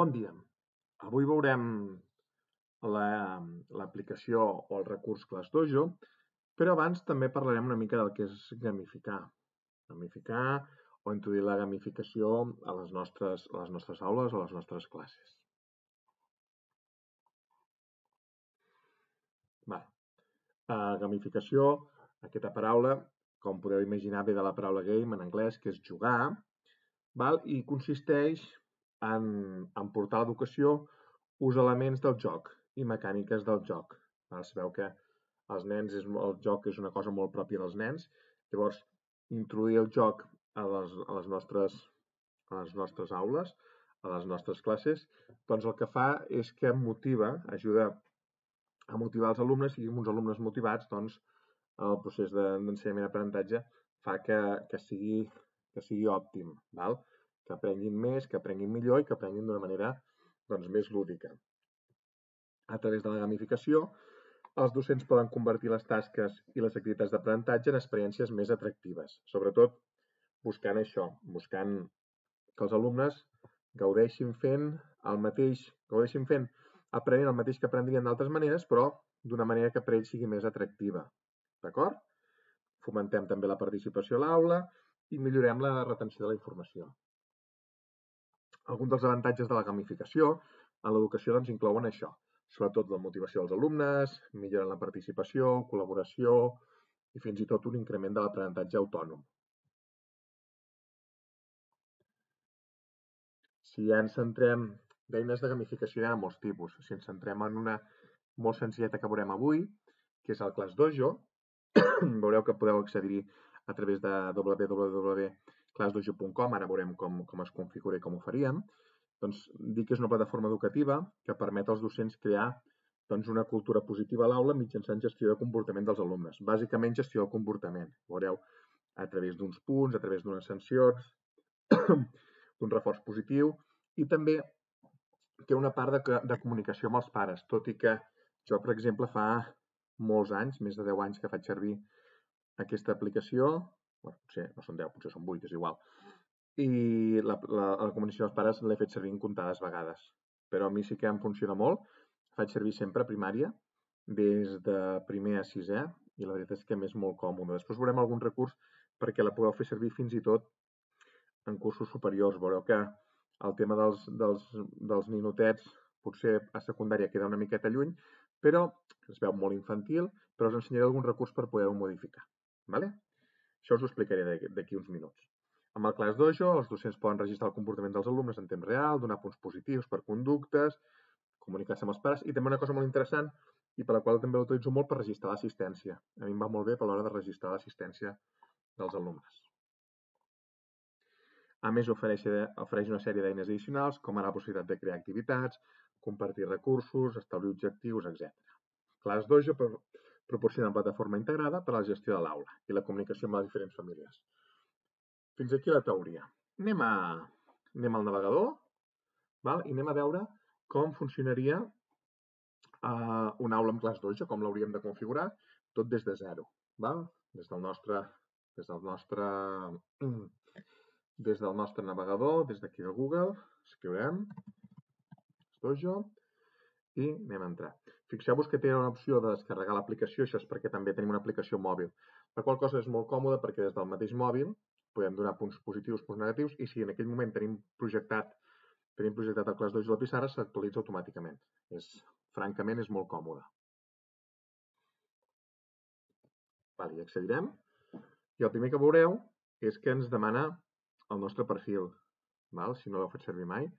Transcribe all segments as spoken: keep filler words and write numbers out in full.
Bon dia. Avui veurem l'aplicació o el recurs ClassDojo, però abans també parlarem una mica del que és gamificar. Gamificar o introduir la gamificació a les nostres, a les nostres aules o a les nostres classes. Vale. Uh, gamificació, aquesta paraula, com podeu imaginar, ve de la paraula game en anglès, que és jugar, val? I consisteix en, en portar a l'educació uns elements del joc i mecàniques del joc. Es veu que els nens, és, el joc és una cosa molt pròpia dels nens, llavors introduir el joc a les, a les, nostres, a les nostres aules, a les nostres classes, doncs el que fa és que motiva, ajuda a motivar els alumnes, i uns alumnes motivats, doncs el procés d'ensenyament-aprenentatge fa que, que, sigui, que sigui òptim, val? Que aprenguin més, que aprenguin millor i que aprenguin d'una manera doncs, més lúdica. A través de la gamificació, els docents poden convertir les tasques i les activitats d'aprenentatge en experiències més atractives, sobretot buscant això, buscant que els alumnes gaudeixin fent el mateix, gaudeixin fent, aprenent el mateix que aprendrien d'altres maneres, però d'una manera que per ells sigui més atractiva. D'acord? Fomentem també la participació a l'aula i millorem la retenció de la informació. Alguns dels avantatges de la gamificació en l'educació doncs, inclouen això, sobretot la motivació dels alumnes, milloren la participació, col·laboració i fins i tot un increment de l'aprenentatge autònom. Si ja ens centrem d'eines de gamificació, hi ha molts tipus. Si ens centrem en una molt senzilleta que veurem avui, que és el ClassDojo, veureu que podeu accedir-hi a través de w w w punt classdojo punt com, ara veurem com, com es configura i com ho faríem. Doncs dir que és una plataforma educativa que permet als docents crear doncs, una cultura positiva a l'aula mitjançant gestió de comportament dels alumnes. Bàsicament gestió del comportament. Veureu a través d'uns punts, a través d'unes sancions, d'un reforç positiu, i també té una part de, de comunicació amb els pares, tot i que jo, per exemple, fa molts anys, més de deu anys que faig servir aquesta aplicació, bueno, potser no són deu, potser són vuit, és igual, i la, la, la comunicació dels pares l'he fet servir comptades vegades, però a mi sí que em funciona molt, faig servir sempre a primària, des de primer a sisè, i la veritat és que m'és molt còmode. Després veurem algun recurs perquè la podeu fer servir fins i tot en cursos superiors. Veureu que el tema dels, dels, dels ninotets potser a secundària queda una miqueta lluny, però es veu molt infantil, però us ensenyaré algun recurs per poder-ho modificar. Vale? Això us ho explicaré d'aquí uns minuts. Amb el ClassDojo, els docents poden registrar el comportament dels alumnes en temps real, donar punts positius per conductes, comunicar-se amb els pares, i també una cosa molt interessant, i per la qual també l'utilitzo molt, per registrar l'assistència. A mi em va molt bé per l'hora de registrar l'assistència dels alumnes. A més, ofereix, ofereix una sèrie d'eines addicionals, com ara la possibilitat de crear activitats, compartir recursos, establir objectius, etcètera. ClassDojo proporciona una plataforma integrada per a la gestió de l'aula i la comunicació amb les diferents famílies. Fins aquí la teoria. Anem, a, anem al navegador, val? I anem a veure com funcionaria uh, una aula amb ClassDojo, com l'hauríem de configurar, tot des de zero. Val? Des del nostre... Des del nostre des del nostre navegador, des d'aquí de Google, escriurem ClassDojo i anem a entrar. Fixeu-vos que té una opció de descarregar l'aplicació, això és perquè també tenim una aplicació mòbil, la qual cosa és molt còmoda perquè des del mateix mòbil podem donar punts positius, punts negatius, i si en aquell moment tenim projectat, tenim projectat el ClassDojo a la pissarra, s'actualitza automàticament. És, francament, és molt còmode. Vale, hi accedirem, i el primer que veureu és que ens demana el nostre perfil, val? Si no l'heu fet servir mai.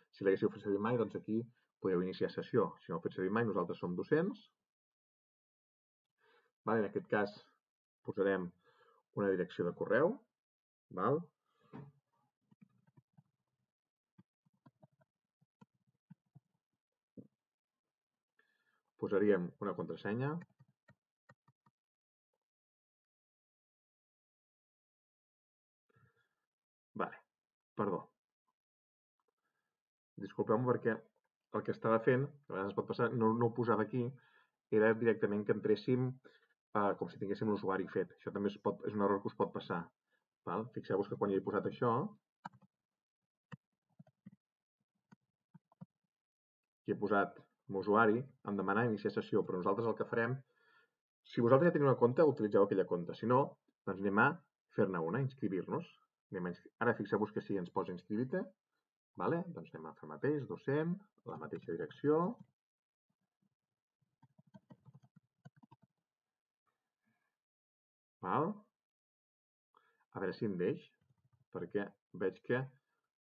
Si l'haguéssiu fet servir mai, doncs aquí podeu iniciar sessió. Si no l'heu fet servir mai, nosaltres som docents. Val? En aquest cas posarem una direcció de correu. Val? Posaríem una contrasenya. Vale. Perdó. Disculpeu-me perquè el que estava fent, a vegades pot passar, no, no ho posava aquí, era directament que entréssim uh, com si tinguéssim l'usuari fet. Això també es pot, és un error que us pot passar. Val? Fixeu-vos que quan hi he posat això, Aquí he posat usuari, em demana iniciar sessió, però nosaltres el que farem, si vosaltres ja teniu una compte, utilitzeu aquella compte. Si no, doncs anem a fer-ne una, inscriure-nos. Ara fixeu-vos que sí, ens posa inscriure-te. Vale? Doncs anem a fer el mateix, docent, la mateixa direcció. Val? A veure si em deix, perquè veig que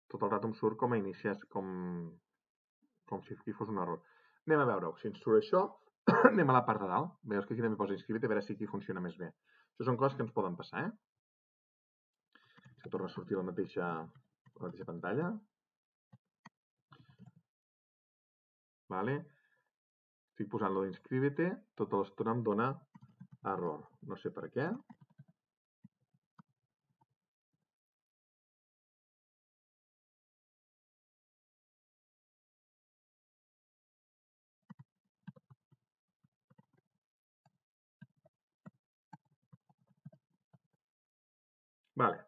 tot el rato em surt com a iniciar, com, com si aquí fos un error. Anem a veure si ens surt això. Anem a la part de dalt. Veus que aquí també posa inscriure-te, a veure si aquí funciona més bé. Això són coses que ens poden passar, eh? Si torna a sortir la mateixa, la mateixa pantalla. Vale? Estic posant lo d'inscriure-te, tota l'estona em dona error. No sé per què. Vale.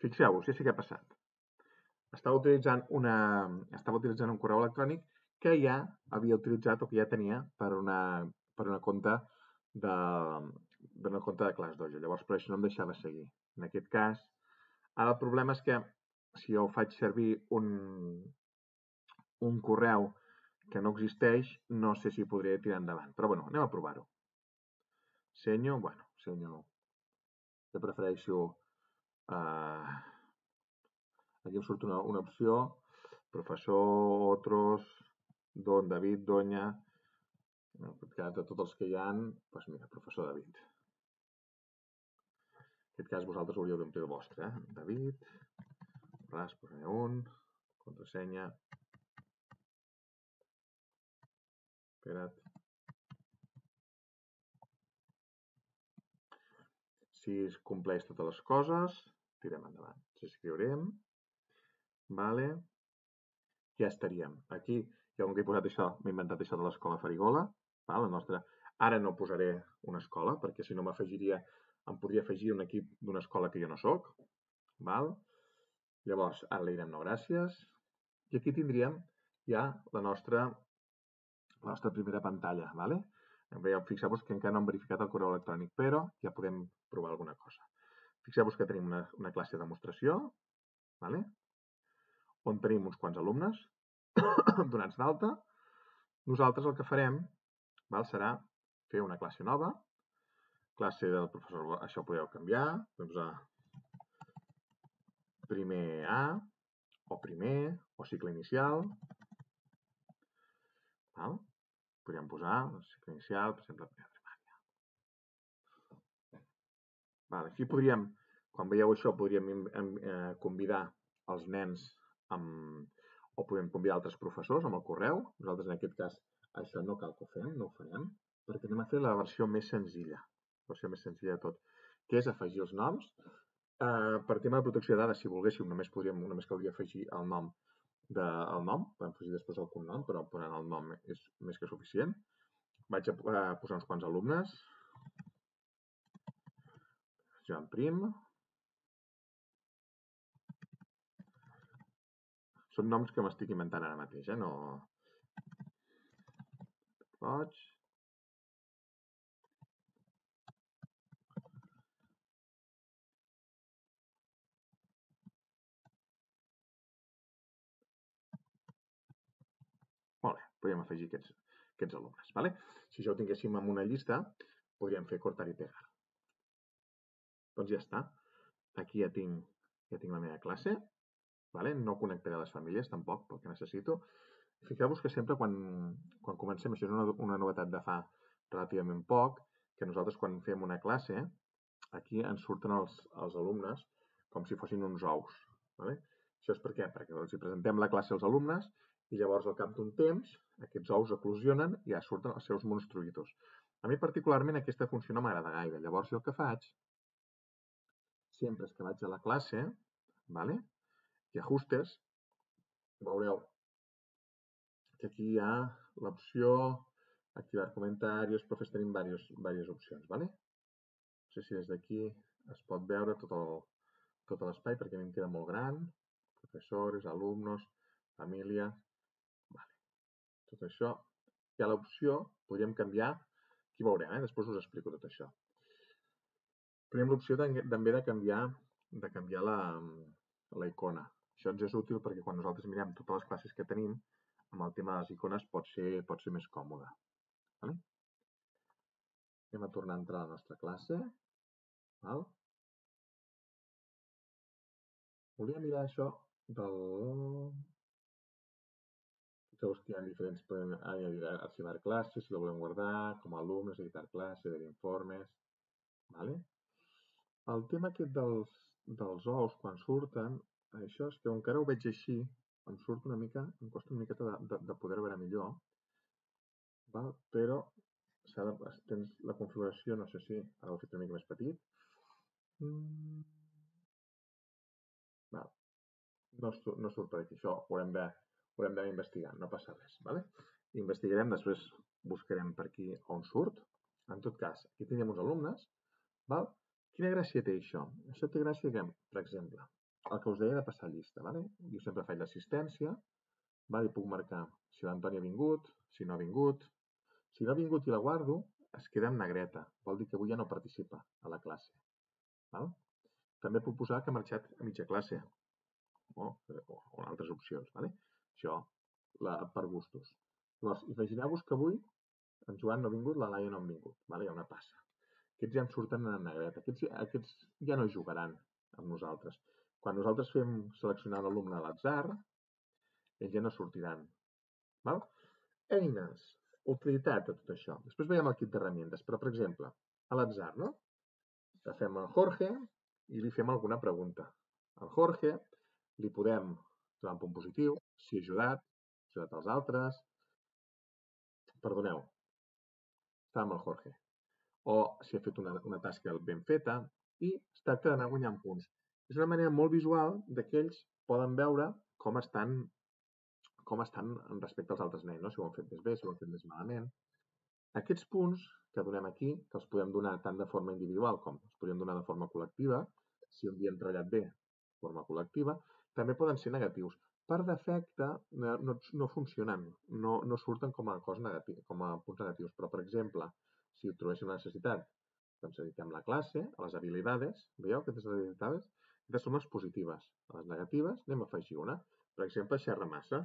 Fixeu-vos, ja sé què ha passat. Estava utilitzant, una, estava utilitzant un correu electrònic que ja havia utilitzat o que ja tenia per una, per una compte de, per una compte de ClassDojo. Llavors, per això no em deixava seguir. En aquest cas, ara el problema és que si jo faig servir un, un correu que no existeix, no sé si podré tirar endavant. Però bueno, anem a provar-ho. Senyo, bueno, senyo, jo prefereixo eh, aquí em surt una, una opció, professor, otros, don, David, doña, en aquest cas de tots els que hi ha, doncs mira, professor David. En aquest cas vosaltres hauríeu d'omplir el vostre, eh? David, ras, posaré un, contrasenya, espera't. Si es compleix totes les coses, tirem endavant. Ens escriurem, vale, ja estaríem. Aquí, jo com que he posat això, m'he inventat això de l'escola Farigola, val? La nostra... Ara no posaré una escola, perquè si no m'afegiria, em podria afegir un equip d'una escola que jo no sóc, val? Llavors, ara li direm no gràcies, i aquí tindríem ja la nostra, la nostra primera pantalla, vale? Veieu, fixeu-vos que encara no hem verificat el correu electrònic, però ja podem provar alguna cosa. Fixeu-vos que tenim una, una classe de demostració, vale? On tenim uns quants alumnes donats d'alta. Nosaltres el que farem, val, serà fer una classe nova, classe del professor, això ho podeu canviar, doncs a primer A, o primer, o cicle inicial, val? Podríem posar cicle inicial, per exemple, primera primària. Val, aquí podríem, quan veieu això, podríem eh, convidar els nens amb, o podem convidar altres professors amb el correu. Nosaltres, en aquest cas, això no cal que ho fem, no ho farem, perquè anem a fer la versió més senzilla, la versió més senzilla de tot, que és afegir els noms. Eh, per tema de protecció de dades, si volguéssim, només, podríem, només caldria afegir el nom de, el nom, podem afegir després el cognom, però posant el nom és més que suficient. Vaig a posar uns quants alumnes. Joan Prim. Són noms que m'estic inventant ara mateix, eh? No... Roig. Molt bé, podríem afegir aquests, aquests alumnes. Vale? Si això ho tinguéssim en una llista, podríem fer cortar i pegar. Doncs ja està. Aquí ja tinc, ja tinc la meva classe. Vale? No connectaré les famílies tampoc, pel que necessito. Fixeu-vos que sempre quan, quan comencem, això és una, una novetat de fa relativament poc, que nosaltres quan fem una classe, aquí ens surten els, els alumnes com si fossin uns ous. Vale? Això és per què? Perquè els presentem la classe als alumnes i llavors al cap d'un temps aquests ous eclosionen i ja surten els seus monstruïtos. A mi particularment aquesta funció no m'agrada gaire. Llavors jo el que faig sempre és que vaig a la classe, vale? I ajustes, veureu que aquí hi ha l'opció activar comentaris, però tenim diverses, diverses opcions, vale? No sé si des d'aquí es pot veure tot el, tot l'espai perquè a mi em queda molt gran. Professors, alumnos, família... Vale. tot això, hi ha l'opció, podríem canviar, aquí veurem, eh? Després us explico tot això. Tenim l'opció també de canviar, de canviar la, la icona. Això ens és útil perquè quan nosaltres mirem totes les classes que tenim, amb el tema de les icones pot ser, pot ser més còmode. Vale? Anem a tornar a entrar a la nostra classe. Val? Volia mirar això del... Fixeu que hi ha diferents... Ah, hi ha arxivar classes, si la volem guardar, com a alumnes, editar classe, ver informes... Vale? El tema aquest dels, dels ous, quan surten, això és que encara ho veig així, em surt una mica, em costa una miqueta de, de, de poder veure millor, val? Però s'ha de, tens la configuració, no sé si ara ho he fet una mica més petit. Mm. Val. No, no surt per aquí, això ho haurem de, ho haurem d'anar investigant, no passa res. Vale? Investigarem, després buscarem per aquí on surt. En tot cas, aquí tenim uns alumnes, val? Quina gràcia té això? Això té gràcia que, per exemple, el que us deia de passar llista, ¿vale? Jo sempre faig l'assistència, ¿vale? I puc marcar si l'Antoni ha vingut, si no ha vingut. Si no ha vingut i la guardo, es queda en negreta. Vol dir que avui ja no participa a la classe. ¿Val? També puc posar que ha marxat a mitja classe o, o altres opcions. ¿Vale? Això la, per gustos. Llavors, imagineu-vos que avui en Joan no ha vingut, la Laia no ha vingut. ¿Vale? Hi ha una passa. Aquests ja en surten en negreta. Aquests, aquests ja no jugaran amb nosaltres. Quan nosaltres fem seleccionar l'alumne a l'atzar, ells ja no sortiran. Val? Eines, utilitat de tot això. Després veiem el kit d'herramientes, però, per exemple, a l'atzar, no? Agafem el Jorge i li fem alguna pregunta. Al Jorge li podem donar un punt positiu, si ha ajudat, ha ajudat els altres. Perdoneu, està amb el Jorge. O si ha fet una, una tasca ben feta, i es tracta d'anar guanyant punts. És una manera molt visual que ells poden veure com estan, com estan respecte als altres nens, no? Si ho han fet més bé, si ho han fet més malament. Aquests punts que donem aquí, que els podem donar tant de forma individual com els podem donar de forma col·lectiva, si un dia hem treballat bé de forma col·lectiva, també poden ser negatius. Per defecte no, no, no funcionen, no, no surten com a, cosa negativa, com a punts negatius, però, per exemple, si ho trobéssim la necessitat, doncs editem la classe, a les habilidades, veieu aquestes habilidades? Aquestes són les positives. A les negatives anem a afegir una. Per exemple, xerra massa.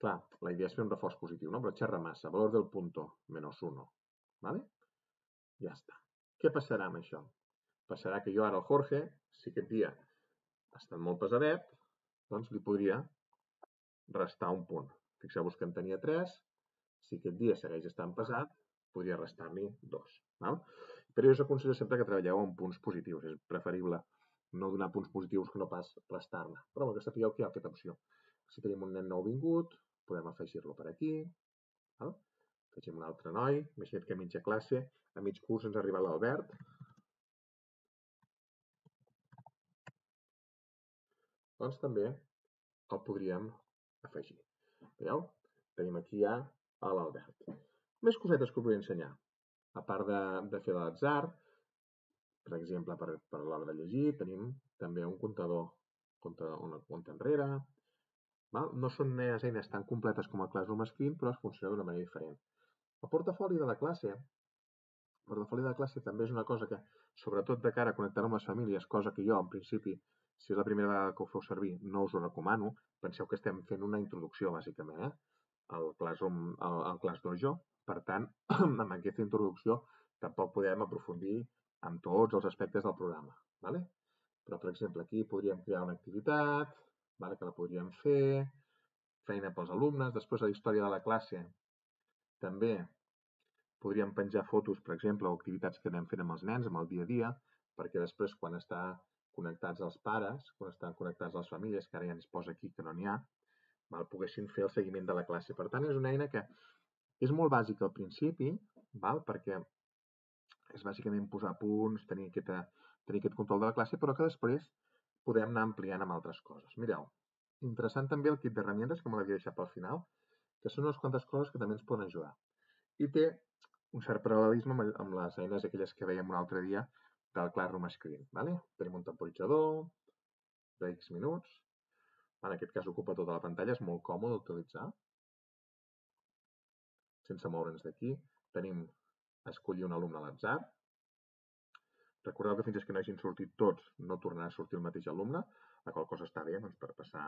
Clar, la idea és fer un reforç positiu, no? Però xerra massa, valor del punto, menos uno. ¿Vale? Ja està. Què passarà amb això? Passarà que jo ara al Jorge, si aquest dia ha estat molt pesadet, doncs li podria restar un punt. Fixeu-vos que en tenia tres, si aquest dia segueix estant pesat, podria restar-li dos. Val? Però jo us aconsello sempre que treballeu amb punts positius. És preferible no donar punts positius que no pas restar-ne. Però que sapigueu que hi ha aquesta opció. Si tenim un nen nou vingut, podem afegir-lo per aquí. Val? Afegim un altre noi. Imagina't que a mitja classe, a mig curs ens arriba l'Albert. Doncs també el podríem afegir. Veieu? Tenim aquí ja l'Albert. Més cosetes que us vull ensenyar. A part de, de fer l'atzar, per exemple, per, per l'hora de llegir, tenim també un comptador, comptador una compta enrere. Val? No són eines tan completes com el Classroom Screen, però es funciona d'una manera diferent. El portafoli de la classe, el portafoli de la classe també és una cosa que, sobretot de cara a connectar amb les famílies, cosa que jo, en principi, si és la primera vegada que ho feu servir, no us ho recomano. Penseu que estem fent una introducció, bàsicament, eh? al Classroom, al, al ClassDojo. Per tant, amb aquesta introducció tampoc podem aprofundir en tots els aspectes del programa. ¿Vale? Però, per exemple, aquí podríem crear una activitat, ¿vale? Que la podríem fer, feina pels alumnes, després a la història de la classe també podríem penjar fotos, per exemple, o activitats que anem fent amb els nens, amb el dia a dia, perquè després, quan està connectats els pares, quan estan connectats les famílies, que ara ja ens posa aquí que no n'hi ha, val? Poguessin fer el seguiment de la classe. Per tant, és una eina que és molt bàsica al principi, val? Perquè és bàsicament posar punts, tenir, aquesta, tenir aquest control de la classe, però que després podem anar ampliant amb altres coses. Mireu, interessant també el kit d'herramientes, que me l'havia deixat pel final, que són unes quantes coses que també ens poden ajudar. I té un cert paral·lelisme amb, amb les eines aquelles que veiem un altre dia del Classroom Screen. ¿Vale? Tenim un temporitzador de X minuts. En aquest cas ocupa tota la pantalla, és molt còmode d'utilitzar. Sense moure'ns d'aquí, tenim escollir un alumne a l'atzar. Recordeu que fins que no hagin sortit tots no tornarà a sortir el mateix alumne, la qual cosa està bé doncs, per passar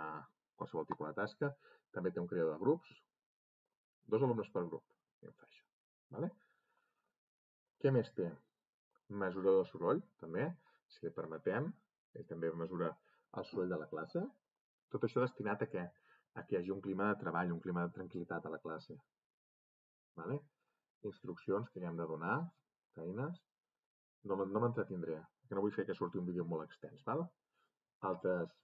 qualsevol tipus de tasca. També té un creador de grups, dos alumnes per grup, i em fa això. Vale? Què més té? Mesurador de soroll, també, si li permetem, ell també mesura el soroll de la classe. Tot això destinat a què? A que hi hagi un clima de treball, un clima de tranquil·litat a la classe. Vale? Instruccions que hi hem de donar, feines. No, no m'entretindré, perquè no vull fer que surti un vídeo molt extens. Val? Altres,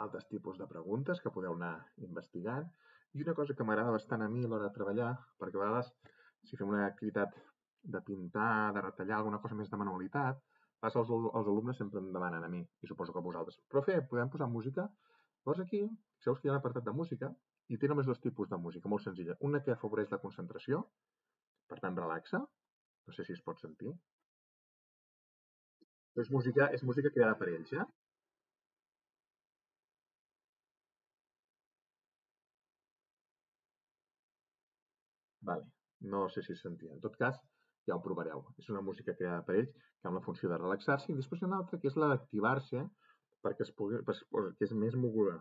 altres tipus de preguntes que podeu anar investigant. I una cosa que m'agrada bastant a mi a l'hora de treballar, perquè a vegades si fem una activitat de pintar, de retallar, alguna cosa més de manualitat, els, els alumnes sempre em demanen a mi, i suposo que a vosaltres, profe, podem posar música? Llavors aquí, sabeu que hi ha un apartat de música i té només dos tipus de música, molt senzilla. Una que afavoreix la concentració, per tant relaxa, no sé si es pot sentir. És música, és música creada per ells, eh? Vale. No sé si es sentia. En tot cas, ja ho provareu. És una música creada per ells que amb la funció de relaxar-se i després hi ha una altra que és la d'activar-se perquè es pugui, que és més moguda.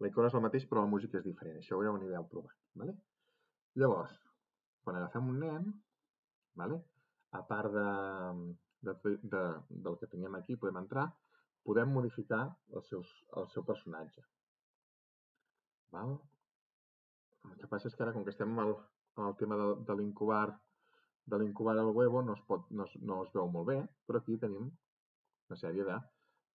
La icona és el mateix però la música és diferent. Això ja ho anireu provant. Vale? Llavors, quan agafem un nen, vale? A part de, de, de, del que teníem aquí, podem entrar, podem modificar els seus, el seu personatge. Val? El que passa és que ara, com que estem amb el, amb el tema de, de l'incubar de l'incubar al huevo, no es, pot, no, es, no es veu molt bé, però aquí tenim una sèrie de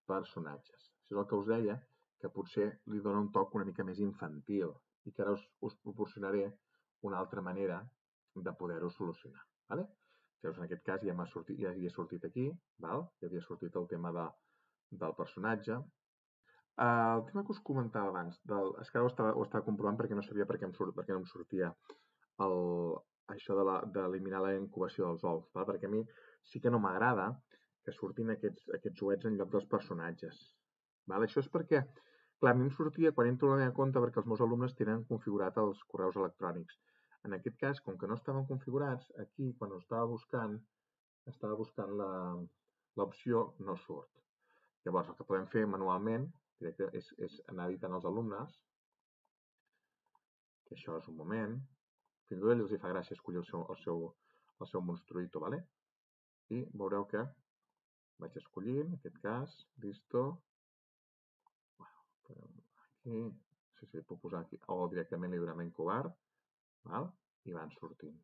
personatges. Això és el que us deia, que potser li dona un toc una mica més infantil i que ara us, us proporcionaré una altra manera de poder-ho solucionar. Vale? Llavors, en aquest cas ja, sortit, ja havia sortit aquí, val? Ja havia sortit el tema de, del personatge. Uh, el tema que us comentava abans, del, és que ara ho estava, ho estava comprovant perquè no sabia per què, em surt, per què no em sortia el, això d'eliminar la, la incubació dels ous, val? Perquè a mi sí que no m'agrada que surtin aquests, aquests ouets en lloc dels personatges. Val? Això és perquè, clar, a mi em sortia quan entro a la meva compte perquè els meus alumnes tenen configurat els correus electrònics. En aquest cas, com que no estaven configurats, aquí, quan ho estava buscant, estava buscant l'opció no surt. Llavors, el que podem fer manualment directe, és, és anar editant els alumnes, que això és un moment, fins i tot ells els fa gràcia escollir el seu, el seu, el seu monstruito, ¿vale? I veureu que vaig escollint, en aquest cas, listo, aquí, no sé si li puc posar aquí, o directament li donem incubar, val? I van sortint.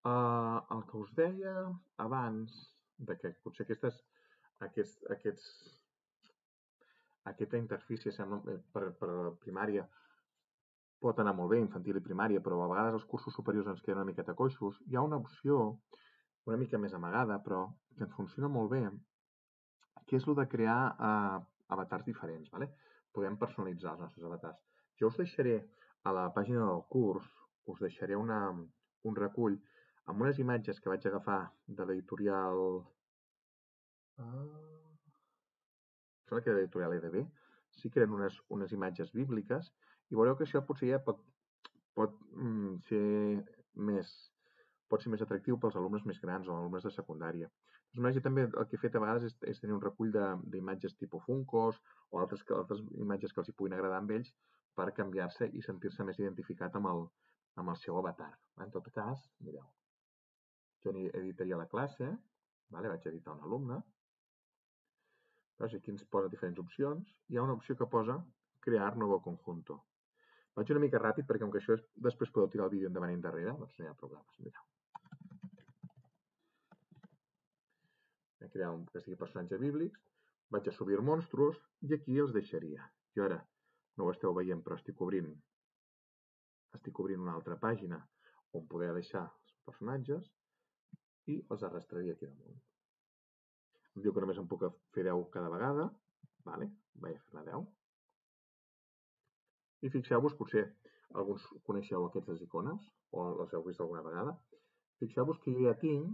Uh, el que us deia abans, de que potser aquestes, aquests, aquests, aquesta interfície sembla, per, per primària pot anar molt bé, infantil i primària, però a vegades els cursos superiors ens queden una miqueta coixos. Hi ha una opció una mica més amagada, però que ens funciona molt bé, que és el de crear uh, avatars diferents. ¿Vale? Podem personalitzar els nostres avatars. Jo us deixaré a la pàgina del curs, us deixaré una, un recull amb unes imatges que vaig agafar de l'editorial... Uh, sembla que era l'editorial E D B. Sí que eren unes, unes imatges bíbliques i veureu que això potser ja pot, pot mm, ser més pot ser més atractiu pels alumnes més grans o alumnes de secundària. Jo també el que he fet a vegades és, és tenir un recull d'imatges tipus Funkos o altres, altres imatges que els hi puguin agradar amb ells per canviar-se i sentir-se més identificat amb el, amb el seu avatar. En tot cas, mireu, jo editaria la classe, vale? Vaig editar un alumne, veus? Aquí ens posa diferents opcions. Hi ha una opció que posa crear nuevo conjunto. Vaig una mica ràpid perquè com que això és, després podeu tirar el vídeo endavant i endarrere, doncs no hi ha problemes. Mireu. He creat un que sigui personatge bíblics, vaig a subir monstruos i aquí els deixaria. Jo ara no ho esteu veient però estic obrint estic obrint una altra pàgina on poder deixar els personatges i els arrastraria aquí damunt. Em diu que només em puc fer deu cada vegada, vale? Vaig a fer-ne deu. I fixeu-vos, potser alguns coneixeu aquestes icones o les heu vist alguna vegada. Fixeu-vos que jo ja tinc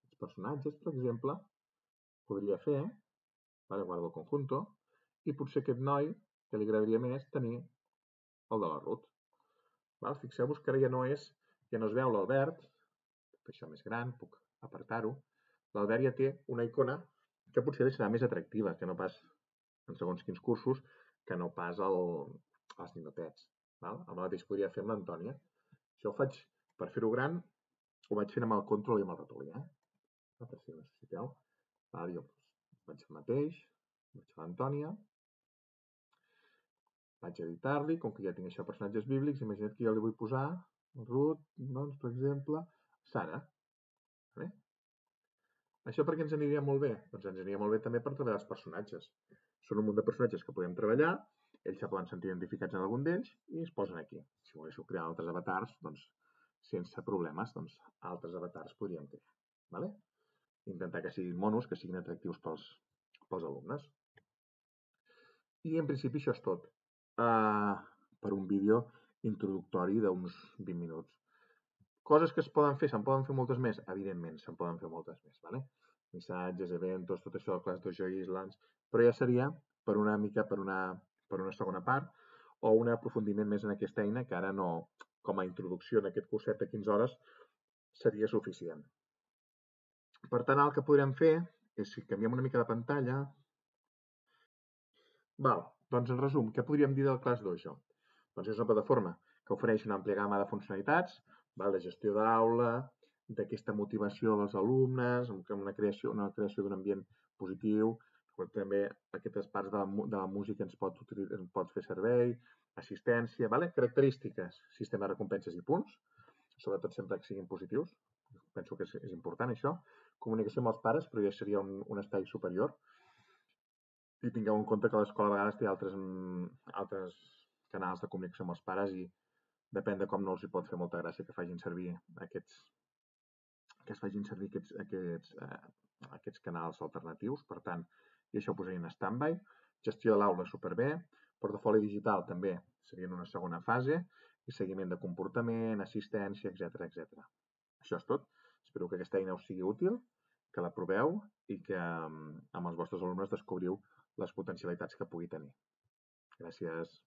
els personatges, per exemple, podria fer, vale, guardo el conjunto, i potser aquest noi que li agradaria més tenir el de la Ruth. Val? Fixeu-vos que ara ja no és, ja no es veu l'Albert, puc fer això més gran, puc apartar-ho. L'Albert ja té una icona que potser li serà més atractiva, que no pas en segons quins cursos, que no pas el, els ninotets. Val? El mateix podria fer amb l'Antònia. Això ho faig, per fer-ho gran, ho vaig fent amb el control i amb el ratolí, eh? Per si ho necessiteu. Val? Jo faig el mateix, vaig a l'Antònia, vaig a editar-li, com que ja tinc això personatges bíblics, imagina't que jo li vull posar Ruth, doncs, per exemple, Sara. Vale? Això per què ens aniria molt bé? Doncs ens aniria molt bé també per treballar els personatges. Són un munt de personatges que podem treballar, ells se poden sentir identificats en algun d'ells i es posen aquí. Si volguéssiu crear altres avatars, doncs, sense problemes, doncs, altres avatars podríem crear. Vale? Intentar que siguin monos, que siguin atractius pels, pels alumnes. I en principi això és tot uh, per un vídeo introductori d'uns vint minuts. Coses que es poden fer, se'n poden fer moltes més? Evidentment, se'n poden fer moltes més, ¿vale? Missatges, eventos, tot això del Class Dojo Islands, però ja seria per una mica per una, per una segona part o un aprofundiment més en aquesta eina que ara no, com a introducció en aquest curset de quinze hores, seria suficient. Per tant, el que podrem fer és, si canviem una mica de pantalla, val, doncs en resum, què podríem dir del Class Dojo? Doncs és una plataforma que ofereix una àmplia gamma de funcionalitats, val, de gestió d'aula, d'aquesta motivació dels alumnes, amb una creació una creació d'un ambient positiu, també aquestes parts de la, de la música ens pot, ens pot fer servei, assistència, vale? Característiques, sistema de recompenses i punts, sobretot sempre que siguin positius, penso que és, és important això, comunicació amb els pares, però ja seria un, un estall superior, i tingueu en compte que l'escola a vegades té altres, altres canals de comunicació amb els pares i depèn de com no els hi pot fer molta gràcia que facin servir aquests, que es facin servir aquests, aquests, eh, aquests canals alternatius. Per tant, i això ho posaria en stand-by. Gestió de l'aula superbé. Portafoli digital també seria en una segona fase. I seguiment de comportament, assistència, etcètera, etcètera. Això és tot. Espero que aquesta eina us sigui útil, que la proveu i que amb els vostres alumnes descobriu les potencialitats que pugui tenir. Gràcies.